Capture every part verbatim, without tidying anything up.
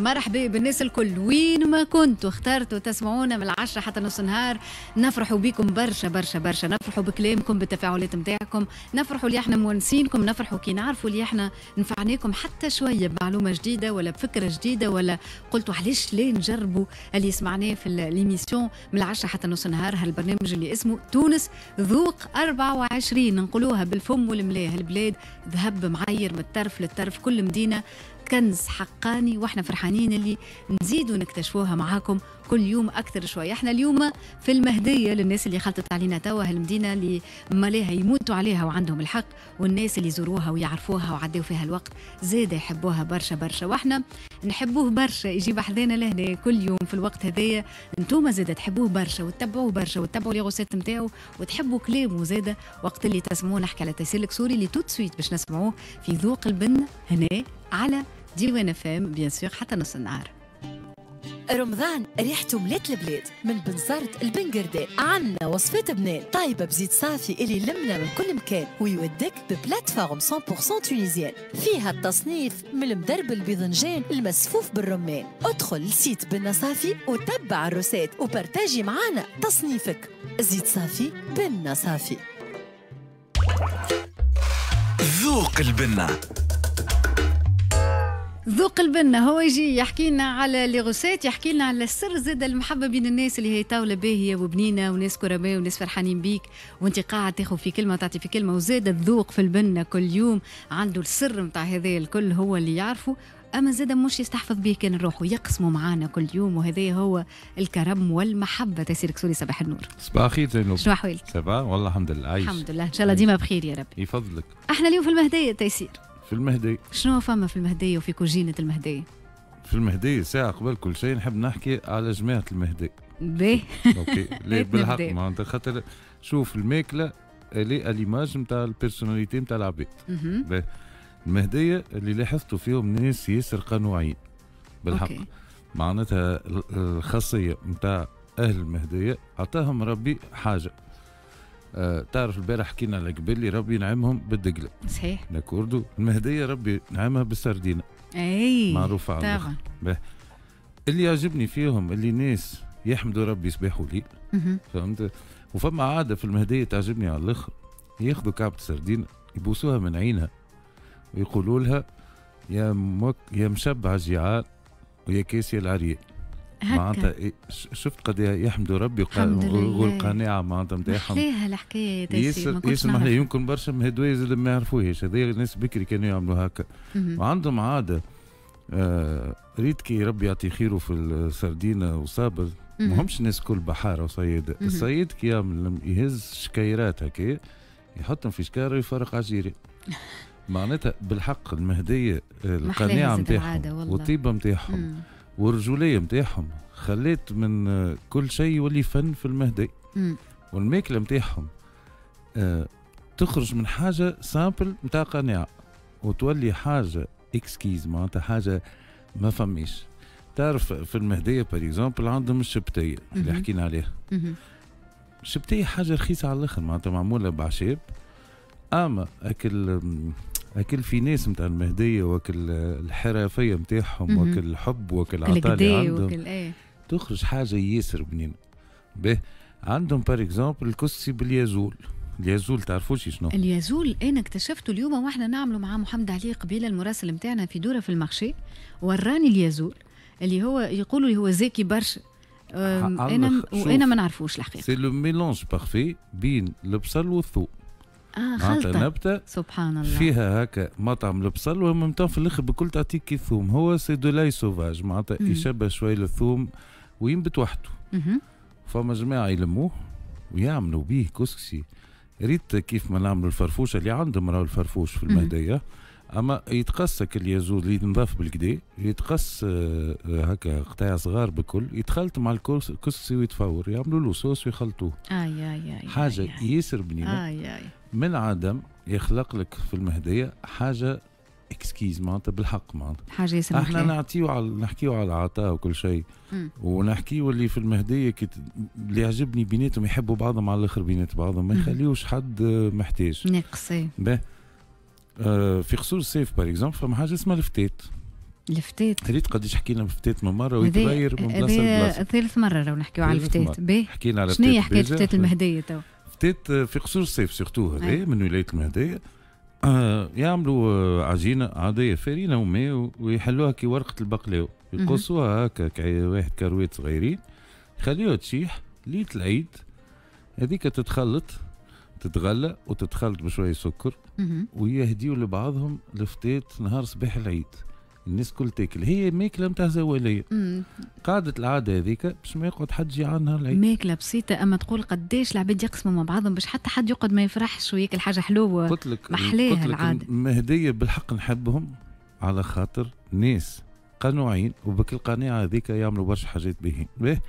مرحبا بالناس الكل وين ما كنتوا، اخترتوا تسمعونا من العشرة حتى نص النهار. نفرحوا بكم برشا برشا برشا، نفرحوا بكلامكم، بالتفاعلات نتاعكم، نفرحوا اللي احنا مونسينكم، نفرحوا كي نعرفوا اللي احنا نفعناكم حتى شوية بمعلومة جديدة ولا بفكره جديدة، ولا قلتوا علاش ليه نجربوا اللي سمعناه في l'émission من العشرة حتى نص النهار. هالبرنامج اللي اسمه تونس ذوق أربعة وعشرين، نقولوها بالفم والملاه، البلاد ذهب معير من الطرف للطرف، كل مدينة كنز حقاني، واحنا فرحانين اللي نزيدوا نكتشفوها معاكم كل يوم اكثر شوي. احنا اليوم في المهديه، للناس اللي خلطت علينا توا، هالمدينه اللي ماليها يموتوا عليها وعندهم الحق، والناس اللي يزوروها ويعرفوها وعدوا فيها الوقت زاد يحبوها برشا برشا، واحنا نحبوه برشا يجي بحذانا لهنا كل يوم في الوقت هذايا. انتوما زاد تحبوه برشا وتتبعوه برشا وتتبعوا les recettes نتاعو وتحبوا كلامه زاد وقت اللي تسمعوه. نحكي على تيسير الكسوري اللي tout de suite باش نسمعوه في ذوق البن هنا على ديوان اف ام، bien sûr حتى نص النهار. رمضان ريحته ملات البلاد، من بنزرت لبنقردان عنا وصفات بنان طايبة بزيت صافي اللي لمنا من كل مكان ويودك ب plateforme مية في المية tunisienne فيها التصنيف من المدربل الباذنجان المسفوف بالرمان. ادخل ل site بنا صافي وتبع ال recette و partager معانا تصنيفك. زيت صافي، بنا صافي. ذوق البنة. ذوق البنة، هو يجي يحكي لنا على les recettes، يحكي لنا على السر زاد المحبة بين الناس اللي هي طاولة باهية وبنينة وناس كرماء وناس فرحانين بيك، وانت قاعد تاخذ في كلمة وتعطي في كلمة، وزاد الذوق في البنة كل يوم. عنده السر نتاع هذا الكل هو اللي يعرفه، اما زاد مش يستحفظ به كان روحه، يقسموا معانا كل يوم، وهذا هو الكرم والمحبه. تيسير كسوري، صباح النور. صباح الخير زينب. شنو احوالك؟ ça va والله الحمد لله، عايش. الحمد لله، ان شاء الله ديما بخير يا ربي. يفضلك. احنا اليوم في المهدية تيسير. في المهدية. شنو فما في المهدية وفي كوجينة المهدية؟ في المهدية ساعة قبل كل شيء نحب نحكي على جماعة المهدية. باهي. OK، ليه بالحق معناتها خاطر شوف، الماكلة elle est à l'image نتاع ال personnalité نتاع العباد. باهي، المهدية اللي لاحظتوا فيهم ناس ياسر قنوعين بالحق. OK. معناتها الخاصية نتاع أهل المهدية عطاهم ربي حاجة. آه تعرف البارح حكينا على قبل ربي نعمهم بالدقله. صحيح. d'accord، المهدية ربي نعمها بالسردينه. اي. معروفة على طبعا. اللي يعجبني فيهم اللي ناس يحمدوا ربي صباح وليل، فهمت؟ وفما عادة في المهدية تعجبني على الاخر، ياخذوا كعبه سردين يبوسوها من عينها ويقولوا لها يا مك يا مشبع الجيعان ويا كاسية العريان. معناتها إيه، شفت قد يحمدوا ربي والقناعة معناتها نتاعهم. محلاها الحكاية. ياسر ياسر محلاها، يمكن برشا مهدوية زاد ما يعرفوهاش، هذه الناس بكري كانوا يعملوا هكا. وعندهم عادة آه ريت كي ربي يعطي خيره في السردينه وصابر، ما همش الناس كل بحارة وصياده. الصياد كي يعمل يهز شكايرات هكا يحطهم في شكاره ويفرق على الجيران. معناتها بالحق المهدية القناعة نتاعهم والطيبه نتاعهم والرجوليه نتاعهم خليت من كل شيء يولي فن في المهدي. والماكله نتاعهم آه تخرج من حاجة simple نتاع قناعة وتولي حاجة exquise، معناتها حاجة ما فماش. تعرف في المهدية par exemple عندهم الشبتيه اللي حكينا عليها. الشبتيه حاجة رخيصة على الاخر، معناتها معمولة بعشاب، اما اكل اكل finesse نتاع المهدية واكل الحرفية نتاعهم واكل الحب واكل العطاء اللي عندهم إيه. تخرج حاجة ياسر بنينه. به عندهم par exemple الكسكسي باليازول. اليازول تعرفوش شنو؟ اليازول انا اكتشفته اليوم واحنا نعملوا مع محمد علي قبيلة المراسل نتاعنا في دوره في ال marché، وراني اليازول اللي هو يقولوا اللي هو زاكي برشا، انا وانا ما نعرفوش الحقيقه. c'est le mélange parfait بين البصل والثوم. اه، خلطة. نبتة سبحان الله. فيها هكا مطعم البصل و même في الاخر بكل تعطيك الثوم. هو c'est de l'ail sauvage، معناتها يشبه شوي للثوم وينبت وحده. فما جماعة يلموه ويعملوا به كسكسي. ريت كيف ما نعملوا الفرفوشه اللي عندهم، راهو الفرفوش في المهديه، اما يتقص اليازول اللي ينضاف بالكدا، يتقص آه، آه، هكا قطاع صغار بكل، يتخلط مع الكسكسي ويتفور، يعملوا له صوص ويخلطوه. اي اي اي. حاجة آي ياسر بنينه. آي آي. من عدم يخلق لك في المهدية حاجة exquise، معناتها بالحق معناتها حاجة ياسر. احنا نعطيو على نحكيو على العطاء وكل شيء ونحكيو اللي في المهدية كي اللي يعجبني بيناتهم يحبوا بعضهم على الاخر، بينات بعضهم ما يخليوش حد محتاج. ناقص. آه في قصور السيف par exemple فما حاجة اسمها الفتات. الفتات ريت قداش حكينا بفتات من مرة ويتغير من بلاصة لبلاصه. ثالث مرة لو نحكيو على الفتات. باهي حكينا على شنو هي حكاية فتات المهدية تو؟ فتات في قصور الصيف surtout هذا من ولاية المهدية. آه يعملوا عجينه عادية فرينه وماء ويحلوها كي ورقة البقلاوه، يقصوها هكا واحد كرويت صغيرين، يخليوها تشيح ليلة العيد هذيك تتخلط تتغلى وتتخلط بشوية سكر ويهديوا لبعضهم الفتات نهار صباح العيد. الناس كل تاكل، هي ماكله نتاع زواليه. قعدت العادة هذيك باش ما يقعد حد جيعان نهار العيد. ماكله بسيطة اما تقول قداش العباد يقسموا مع بعضهم باش حتى حد يقعد ما يفرحش وياكل حاجة حلوة. قلت لك محلاها العادة. المهدية بالحق نحبهم على خاطر ناس قنوعين وبك القناعة هذيك يعملوا برشا حاجات باهين. باهي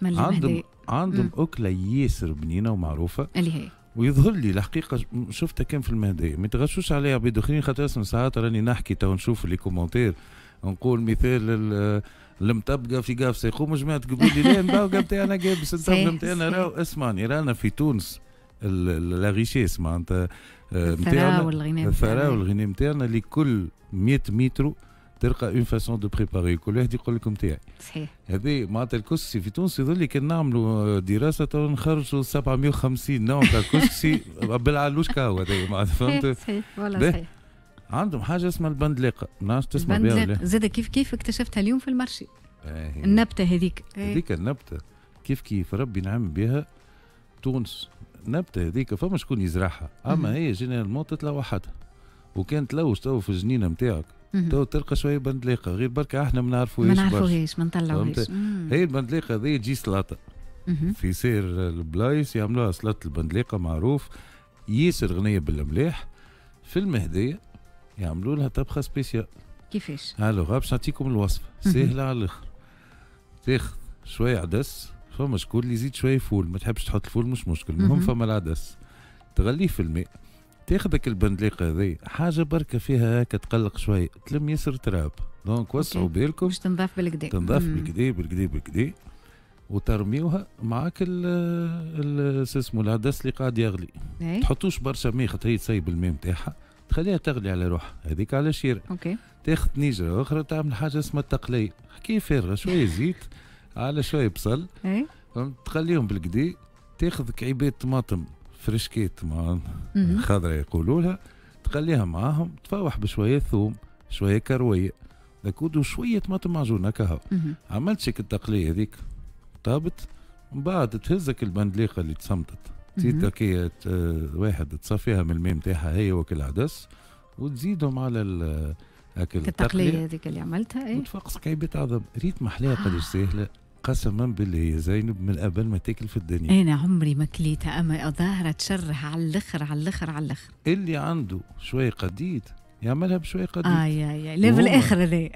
عندهم عندهم اكله ياسر بنينه ومعروفة اللي هي ويظهر لي الحقيقة شفتها كان في المهدية. ما يتغشوش عليها عباد اخرين خاطر اسم ساعات راني نحكي تو نشوف les commentaires نقول مثال المطبقة في قافصه يقوموا جماعة تقول لي لا المطبقة نتاعنا قابس المطبقة نتاعنا راهو اسمعني رانا في تونس la richesse معناتها الثراء والغنى الثراء والغنى نتاعنا لكل مية متر تلقى une façon de préparer كل واحد يقول لكم تاعي. صحيح. هذه معناتها الكسكسي في تونس يظل كان نعملوا دراسة نخرجوا سبعمية وخمسين نوع تاع كسكسي بالعلوش كاو هذا معناتها فهمت؟ صحيح والله صحيح. عندهم حاجة اسمها البندلاقه، ما نعرفش تسمع بها ولا؟ زاد كيف كيف اكتشفتها اليوم في ال marché. آه النبتة هذيك. هذيك النبتة كيف كيف ربي نعم بها تونس. النبتة هذيك فما شكون يزرعها، اما هي généralement تطلع وحدها. وكان تلوج تو في الجنينة نتاعك تو تلقى شوية بندليقه غير بركة احنا ما نعرفوهاش ما نعرفوهاش ما نطلعوهاش. هي البندليقه هذه تجي سلطة في سير البلايص يعملوها سلطة البندليقه معروف ياسر غنية بالملاح. في المهدية يعملوا لها طبخه spéciale. كيفاش؟ alors باش نعطيكم الوصفة سهلة على الاخر. تاخذ شوية عدس، فما شكون اللي يزيد شوية فول، ما تحبش تحط الفول مش مشكل، المهم فما العدس تغليه في الماء. تاخذك البندليقه هذه حاجة بركة فيها هكا تقلق شوية تلم ياسر تراب، donc وسعوا بالكم باش تنضاف بالكدا تنضاف بالكدا بالكدا بالكدا وترميوها معاك ال اسمه العدس اللي قاعد يغلي. أي. تحطوش برشا ماء خاطر هي تسيب الماء نتاعها، تخليها تغلي على روحها هذيك على شيره. okay. تاخذ طنجره اخرى تعمل حاجة اسمها التقليه، حكاية فارغة شوية زيت على شوية بصل. أي. تخليهم بالكدا. تاخذ كعيبات طماطم فرشكيت مع خضرة يقولوا لها، تخليها معاهم، تفوح بشوية ثوم شوية كروية d'accord وشوية طماطم معجون هكا. عملت شك التقليه هذيك طابت، من بعد تهزك البندليقه اللي تسمطت تزيد هكايا واحد تصفيها من الماء نتاعها هي وكل عدس وتزيدهم على هاك التقليه هذيك اللي عملتها. اي وتفقس كعيبات عظم. ريت محلاها قداش ساهله قسما بالله يا زينب من قبل ما تاكل في الدنيا. انا عمري ما كليتها اما ظاهره تشره على الاخر على الاخر على الاخر. اللي عنده شوية قديد يعملها بشوية قديد. اه يا يا level اخر هذا.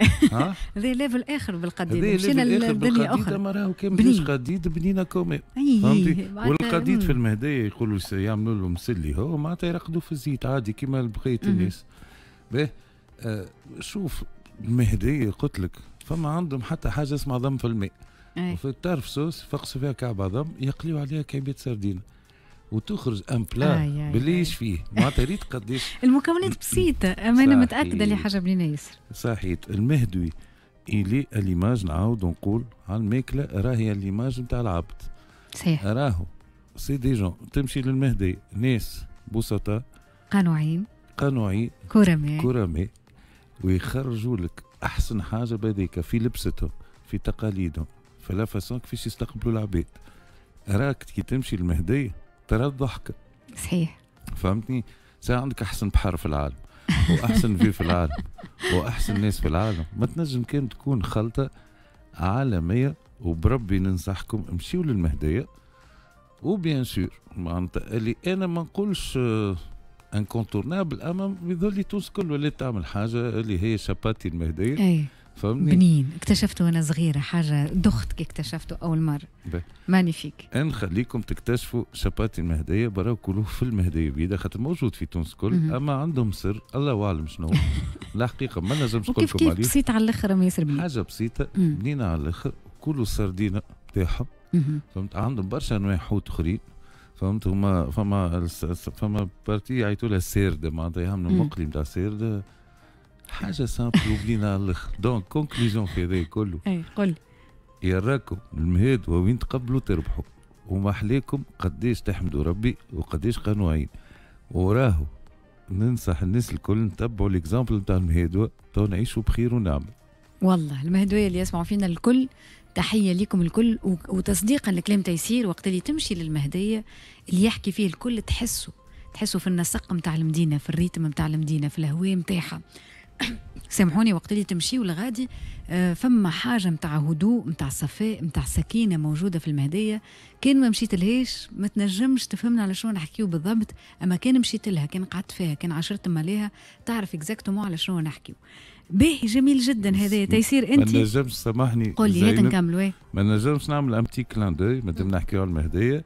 هذا level اخر بالقديد. مشينا لدنيا اخرى. ما راهو كان بلاش قديد بنينه quand même. فهمتي؟ والقديد في المهدية يقولوا يعملوا له مسلي هو معناتها يرقدوا في الزيت عادي كيما بقية الناس. باهي آه شوف المهدية قلت لك فما عندهم حتى حاجة اسمها عظم في الماء. وفي الطرف صوص فقسوا فيها كعب عظم يقليوا عليها كعبات سردينه وتخرج un plat باللي فيه معناتها ريت قداش المكونات بسيطة اما انا متاكدة اللي حاجة بنينه ياسر. صحيت. المهدوي الي l'image نعاود نقول على الماكلة راهي l'image نتاع العبد. صحيح. راهو c'est des gens تمشي للمهدي ناس بسطاء قنوعين قنوعين كرماء كرماء ويخرجوا لك احسن حاجة بهذيك في لبستهم في تقاليدهم في la façon كيفاش يستقبلوا العباد. راك كي تمشي للمهدية ترى الضحكة. صحيح. فهمتني؟ ساعة عندك أحسن بحر في العالم وأحسن vue في العالم وأحسن ناس في العالم، ما تنجم كان تكون خلطة عالمية. وبربي ننصحكم امشيوا للمهدية و bien sûr معناتها اللي أنا ما نقولش incontournable اما يظل لي تونس كل ولات تعمل حاجة اللي هي شباتي المهدية. أي. فهمتني؟ بنين اكتشفته وانا صغيرة، حاجة دخت كي اكتشفته اول مرة. magnifique. نخليكم تكتشفوا شباتي المهدية براو كلوه في المهدية بيدا خاطر موجود في تونس كل، اما عندهم سر الله اعلم شنو. الحقيقة ما نجمش نقول لكم عليه. كيف بسيط على الاخر ما ياسر بنين. حاجة بسيطة بنينه على الاخر، كلوا السردينه تاعهم. فهمت؟ عندهم برشا انواع حوت اخرين. فهمت؟ هما فما فما partie يعيطوا لها السيرده معناتها يعملوا مقلي نتاع السيرده. حاجة simple وبنينه على الاخر. donc conclusion في هذا كله، اي قل. يراكم المهاد وين تقبلوا تربحوا، وما حليكم قديش تحمدوا ربي وقديش قنوعين. وراهو ننصح الناس الكل نتبعوا l'exemple نتاع المهادوه تو نعيشوا بخير ونعمل. والله المهدويه اللي يسمعوا فينا الكل، تحية لكم الكل، وتصديقا لكلام تيسير، وقت اللي تمشي للمهديه اللي يحكي فيه الكل تحسوا تحسوا في النسق نتاع المدينه، في ال rythme نتاع المدينه، في الهواء نتاعها. سامحوني، وقت اللي تمشيو لغادي آه، فما حاجة نتاع هدوء، نتاع صفاء، نتاع سكينة موجودة في المهديه. كان ما مشيت لهاش ما تنجمش تفهمنا على شنو نحكيو بالضبط، اما كان مشيت لها، كان قعدت فيها، كان عشرت ماليها، تعرف exactement على شنو نحكيو. باهي، جميل جدا هذا تيسير. انت ما نجمش، سامحني. قول لي، هات نكملوا. ما نجمش نعمل un petit clin d'œil مادام نحكيو على المهديه.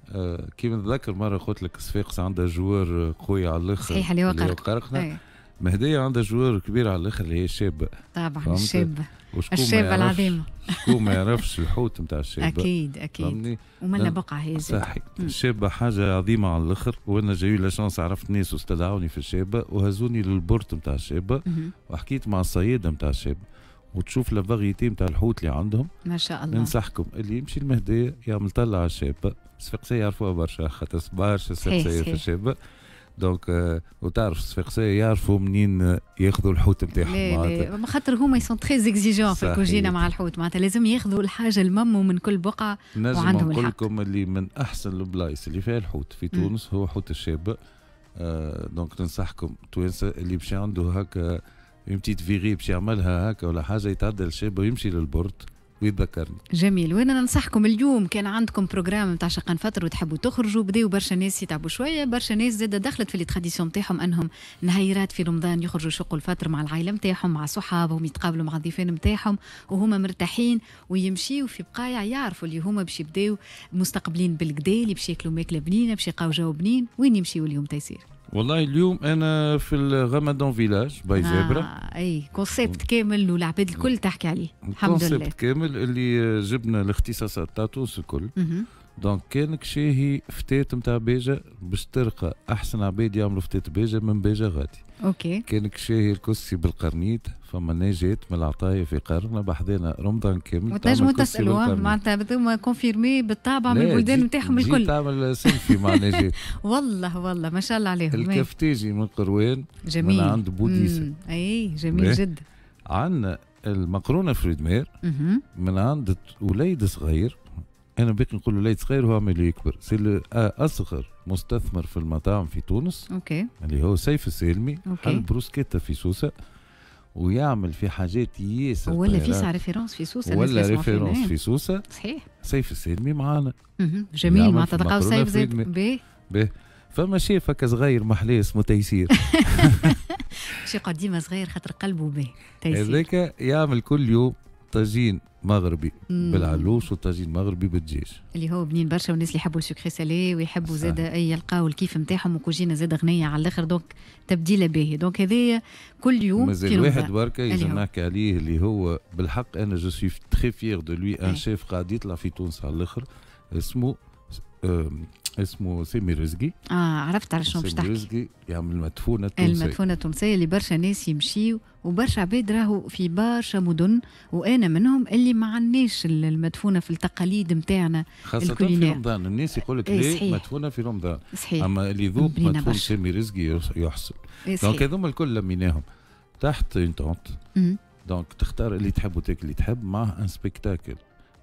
آه كيما نتذكر مرة قلت لك صفاقس عندها joueur قوي على الاخر. صحيح، اللي هو قرقنا. مهدية عندها joueur كبير على الاخر اللي هي الشابة. طبعا الشابة، الشابة العظيمة. شكون ما يعرفش الحوت نتاع الشابة؟ اكيد اكيد، ومنا بقعة هي. صحيح، الشابة حاجة عظيمة على الاخر، وانا j'ai eu la chance عرفت ناس واستدعوني في الشابة وهزوني لل port نتاع الشابة وحكيت مع الصيادة نتاع الشابة وتشوف la variété نتاع الحوت اللي عندهم. ما شاء الله. ننصحكم اللي يمشي المهدية يعمل طلع على الشابة. الصفاقسية يعرفوها برشا خاطر برشا صفاقسية في الشابة. donc آه وتعرف الصفاقسية يعرفوا منين ياخذوا الحوت نتاعهم. معناتها خاطر هما ils sont très exigeants في الكوجينه مع الحوت، معناتها لازم ياخذوا الحاجة الممو من كل بقعه. وعندهم الحق. نقول لكم اللي من احسن البلايص اللي فيها الحوت في تونس هو حوت الشابه. آه donc ننصحكم توانسة اللي باش عنده هكا une petite virée باش يعملها هكا ولا حاجه، يتعدى الشابة ويمشي لل port ويتذكرني. جميل، وانا ننصحكم اليوم كان عندكم programme نتاع شقان فطر وتحبوا تخرجوا، بداوا برشا ناس يتعبوا شويه، برشا ناس زاده دخلت في les traditions نتاعهم انهم نهيرات في رمضان يخرجوا يشقوا الفطر مع العائلة نتاعهم، مع صحابهم، يتقابلوا مع الضيفان نتاعهم وهما مرتاحين، ويمشيوا في بقايع يعرفوا اللي هما باش يبداو مستقبلين بالقدا، اللي باش ياكلوا ماكله بنينه، باش يلقاو جو بنين. وين يمشيوا اليوم تيسير؟ والله اليوم انا في ال Ramadan Village by Zebra. آه اي concept كامل والعباد الكل تحكي عليه، الحمد لله. concept كامل اللي جبنا الاختصاصات تاع تونس الكل. donc كانك شاهي فتات نتاع بيجا، باش تلقى احسن عباد يعملوا فتات بيجا من بيجا غادي. OK. كانك شاهي الكسكسي بالقرنيط، فما نجاة من العطايا في قرقنة بحذانا رمضان كامل. وتنجموا تسالوا، معناتها هذوما confirmés بالطابع من البلدان نتاعهم الكل. تعمل سيلفي مع نجاة. والله والله ما شاء الله عليهم. الكفتاجي من قروان. جميل. من عند بوديسة. اي جميل جدا. عندنا المقرونه fruits de mer من عند وليد صغير، انا باقي نقول وليد صغير وهو عمال يكبر، c'est اصغر مستثمر في المطاعم في تونس. OK. اللي هو سيف السالمي. OK. حل بروسكيتا في سوسة ويعمل في حاجات ياسر. ولا في référence في سوسه. ولا référence في سوسه. صحيح. سيف السالمي معانا. جميل، معناتها تلقاو سيف زاد باهي. فما شيف هكا صغير محلاه اسمه تيسير. شي يقعد ديما صغير خاطر قلبه باهي تيسير. هذاك يعمل كل يوم طاجين مغربي بالعلوش وطاجين مغربي بالدجاج. اللي هو بنين برشا، والناس اللي يحبوا ال sucré salé ويحبوا زاد اي يلقاو الكيف نتاعهم، وكوجينه زاد غنية على الاخر، donc تبديله باهي. donc هذايا كل يوم. مازال واحد بركة يلزم نحكي عليه اللي هو بالحق انا je suis très fier de lui، un chef قاعد يطلع في تونس على الاخر، اسمه اسمه سامي رزقي. اه عرفت على شنو باش تحكي. سامي رزقي يعمل المدفونه التونسيه. المدفونه التونسية اللي برشا ناس يمشيو وبرشا عباد راهو في برشا مدن وانا منهم اللي ما عندناش المدفونه في التقاليد نتاعنا. خاصة في رمضان الناس يقول لك ليه مدفونة في رمضان؟ صحيح. اما اللي يذوق مدفون سامي رزقي يحصل. donc هذوما الكل لميناهم تحت une tente، donc تختار اللي تحب وتاكل اللي تحب مع un spectacle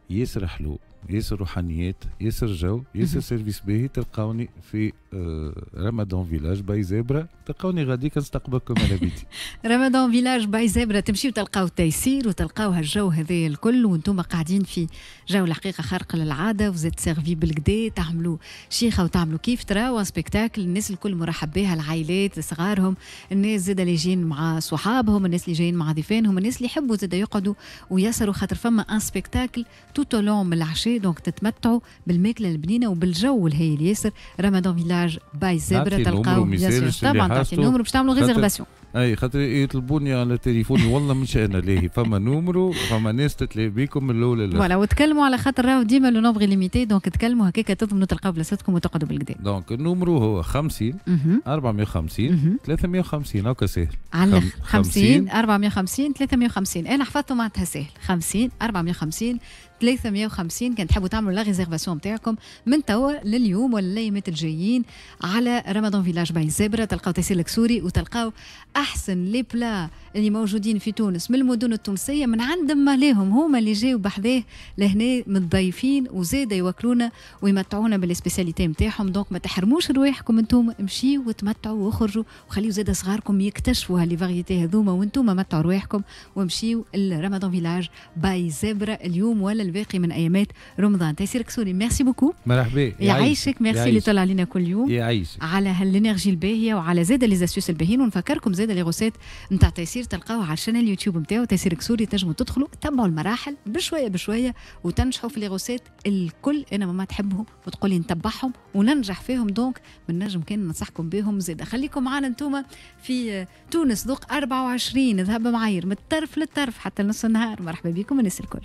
ياسر حلو، ياسر روحانيات، ياسر جو، ياسر service باهي. تلقاوني في آه، Ramadan Village by Zebra، تلقاوني غاديك نستقبلكم على بيتي. Ramadan Village by Zebra، تمشيو تلقاو تيسير وتلقاو هالجو هذا الكل وانتم قاعدين في جو الحقيقة خارق للعاده، vous êtes servis بالقدا، تعملوا شيخه وتعملوا كيف تراو spectacle. الناس الكل مرحب بها، العائلات صغارهم، الناس زاد اللي جايين مع صحابهم، الناس اللي جايين مع ضيفانهم، الناس اللي يحبوا زاد يقعدوا ويسهروا، خاطر فما un spectacle tout au long من العشاء. العشاء، donc تتمتعوا بالماكله البنينه وبالجو الهايل ياسر. رمضان Village by Zebra تلقاو طبعا تعطي ال numéro باش تعملوا réservation. اي خاطر يطلبوني على تليفوني، والله مش انا لاهي، فما numéro، فما ناس تتلاقي بيكم من الاول. voilà، وتكلموا على خاطر راهو ديما le nombre limité، donc تكلموا هكاك تضمنوا تلقاو بلاصتكم وتقعدوا بالقدا. donc ال numéro هو خمسين أربعمية وخمسين ثلاثمية وخمسين، هكا ساهل. على خمسين أربعمية وخمسين ثلاثمية وخمسين، انا حفظته معناتها ساهل، خمسين أربعمية وخمسين ثلاثمية وخمسين. كان تحبوا تعملوا la réservation نتاعكم من توا لليوم ولا الايامات الجايين على رمضان Village by Zebra، تلقاو تيسير الكسوري وتلقاو احسن les plats اللي موجودين في تونس من المدن التونسيه، من عند ماليهم، هما اللي جاوا بحذاه لهنا متضيفين وزاد يوكلونا ويمتعونا بال spécialités نتاعهم. donc ما تحرموش رواحكم، انتم امشيوا وتمتعوا واخرجوا وخليوا زاد صغاركم يكتشفوا ها les variétés هذوما، وانتم متعوا رواحكم وامشيوا لرمضان Village by Zebra اليوم ولا الباقي من ايامات رمضان. تيسير كسوري، merci beaucoup. مرحبا. يعيشك، ميرسي اللي طلع علينا كل يوم. يعيشك. على هال énergie الباهيه وعلى زاد les astuces الباهيين. ونفكركم زاد les recettes نتاع تيسير تلقاوها على ال chaîne اليوتيوب نتاعو تيسير كسوري، تنجموا تدخلوا تبعوا المراحل بشوية بشوية وتنجحوا في les recettes الكل. انا ماما تحبهم وتقولي نتبعهم وننجح فيهم، donc من نجم كان ننصحكم بهم زاد. خليكم معنا انتم في تونس ذوق أربعة وعشرين، ذهب معاير من الطرف للطرف حتى نص النهار. مرحبا بكم الناس الكل.